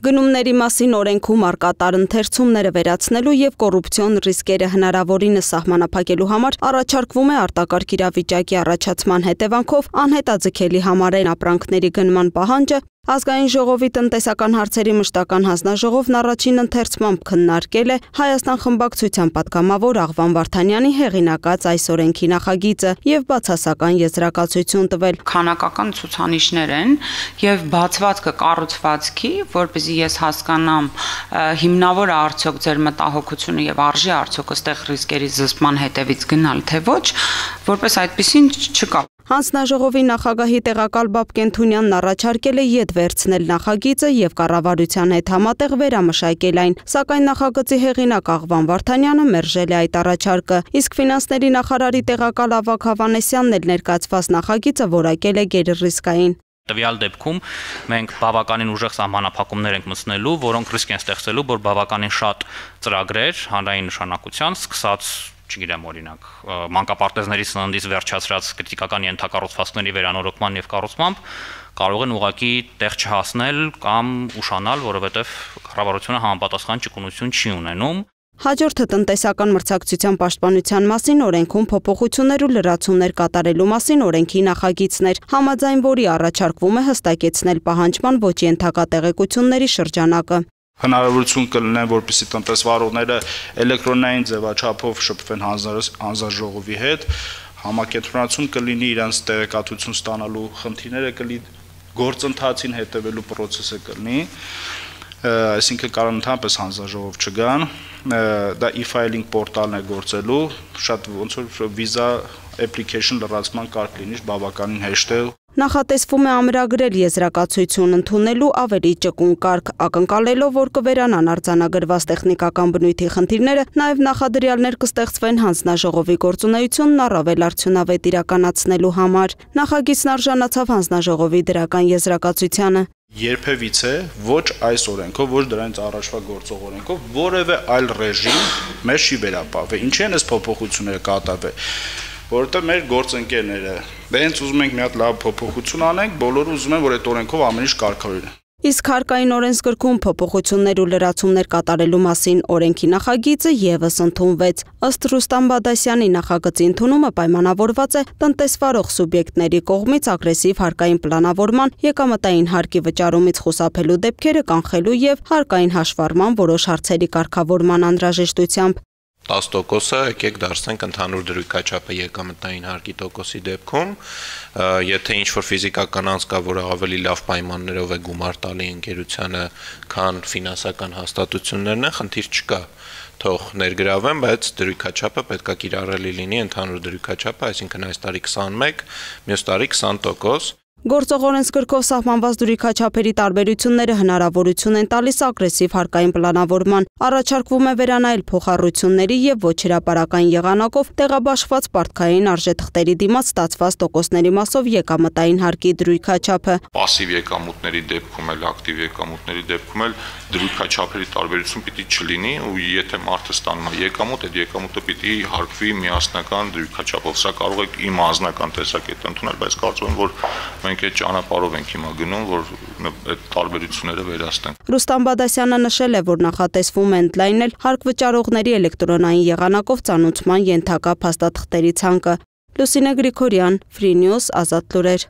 Գնումների մասին օրենքում առկա տարընթերցումները վերացնելու եւ կոռուպցիոն ռիսկերը հնարավորինս սահմանափակելու համար առաջարկվում է արտակարգ իրավիճակի առաջացման հետևանքով անհետաձգելի համարեն ապրանքների գնման պահանջը Ազգային ժողովի տնտեսական հարցերի մշտական հանձնաժողովն առաջին ընթերցմամբ քննարկել է Հայաստան խմբակցության պատգամավոր Աղվան Վարդանյանի հեղինակած այս օրենքի նախագիծը եւ բացասական եզրակացություն տվել։ Քանակական ցուցանիշներ են եւ բացված կառուցվածքի, որպեսզի ես հասկանամ հիմնավոր է արդյոք ձեր մտահոգությունը եւ արժի արդյոք ըստեղ ռիսկերի զսպման հետևից գնալ թե ոչ, որպես այդպեսին չկա։ Հանձնաժողովի նախագահի տեղակալ Բաբկեն Թունյանն առաջարկել է ետ վերցնել նախագիծը եւ կառավարության հետ համատեղ վերամշակել այն, սակայն նախագծի հեղինակ Աղվան Վարդանյանը մերժել է այդ առաջարկը, իսկ ֆինանսների նախարարի տեղակալ Ավագ Հավանեսյանն էլ ներկայացված նախագիծը որակել է գերռիսկային։ Տվյալ դեպքում մենք բավականին ուժեղ սահմանափակումներ ենք մտցնելու, որոնք ռիսկ են ստեղծելու, որ բավականին շատ ծրագրեր հանրային նշանակության սկսած չգիտեմ օրինակ մանկապարտեզների սննդից վերջացրած քրիտիկական ենթակառուցվածքների վերանորոգման եւ կառուցմամբ կարող են ուղղակի տեղ չհասնել կամ ուշանալ, որովհետեւ կառավարությունը համապատասխան ճկունություն չի ունենում։ Հաջորդը տնտեսական մրցակցության պաշտպանության մասին օրենքում փոփոխություններ ու լրացումներ կատարելու մասին օրենքի նախագիծներ, համաձայն որի առաջարկվում է հստակեցնել պահանջման ոչ ենթակա տեղեկությունների շրջանակը։ Հնարավորություն կլինեն, որպեսզի տնտեսվարողները էլեկտրոնային ձևաչափով շփվեն հանձնաժողովի հետ, համակենտրոնացում կլինի իրենց տեղեկատվություն ստանալու խնդիրները կլինի, գործընթացին հետևելու process-ը կլինի, այսինքն կարող ընդհանրապես հանձնաժողով չգան, դա e-filing պորտալն է գործելու, շատ ոնց որ վիզա application լրացման կարգ լինի, բավականին հեշտ է։ Նախատեսվում է ամրագրել եզրակացություն ընդունելու ավելի ճկուն կարգ, ակնկալելով, որ կվերանան արձանագրված տեխնիկական բնույթի խնդիրները, նաև նախադրյալներ կստեղծվեն հանձնաժողովի գործունեությունն առավել արդյունավետ իրականացնելու համար։ Նախագիծն արժանացավ հանձնաժողովի դրական եզրակացությանը։ Երբևիցե ոչ այս օրենքով, ոչ դրանից առաջվա գործող օրենքով որևէ այլ ռեժիմ մեզ չի վերապահվել։ Ինչի են այս փոփոխությունները կատարվել։ Որովհետև մեր գործընկերները հենց ուզում ենք մի հատ լավ փոփոխություն անենք, բոլորը ուզում են, որ այդ օրենքով ամեն ինչ կարգավորվի։ Իսկ հարկային օրենսգրքում փոփոխություններ ու լրացումներ կատարելու մասին օրենքի նախագիծը եւս ընդունվեց։ Ըստ Ռուստամ Բադասյանի նախագծի ընդունումը պայմանավորված է տնտեսվարող սուբյեկտների կողմից ագրեսիվ հարկային պլանավորման, եկամտային հարկի վճարումից խուսափելու դեպքերը կանխելու եւ հարկային հաշվառման որոշ հարցերի կարգավորման անհրաժեշտությամբ։ 10%-ը եկեք դարձնենք ընդհանուր դրույքաչափը եկամտային հարկի տոկոսի դեպքում, եթե ինչ-որ ֆիզիկական անձ կա, որը ավելի լավ պայմաններով է գումար տալի ընկերությանը, քան ֆինանսական հաստատություններն են, խնդիր չկա, թող ներգրավեն, բայց դրույքաչափը պետք է կիրառելի լինի ընդհանուր դրույքաչափը, այսինքն այս տարի 21, մյուս տարի 20%։ Գործող օրենսգրքով սահմանված դրույքաչափերի տարբերությունները հնարավորություն են տալիս ագրեսիվ հարկային պլանավորման, առաջարկվում է վերանայել փոխառությունների եւ ոչ հրապարական եղանակով տեղաբաշխված պարտքային արժեթղթերի դիմաց ստացված տոկոսների մասով եկամտային հարկի դրույքաչափը։ Պասիվ եկամուտների դեպքում էլ, ակտիվ եկամուտների դեպքում էլ դրույքաչափերի տարբերություն պիտի չլինի ու եթե մարդը ստանում է եկամուտ, այդ եկամուտը պիտի հարկվի միասնական դրույքաչափով։ Սա կարող է իմ անձնական տեսակետը ընդունել, բայց կարծում եմ, որ մենք այդ ճանապարհով ենք հիմա գնում, որ այդ տարբերությունները վերացնենք։ Ռուստամ Բադասյանը նշել է, որ նախատեսվում է ընդլայնել հարկ վճարողների էլեկտրոնային եղանակով ծանուցման ենթակա փաստաթղթերի ցանկը։ Լուսինե Գրիգորյան, Free News, Ազատ լուրեր։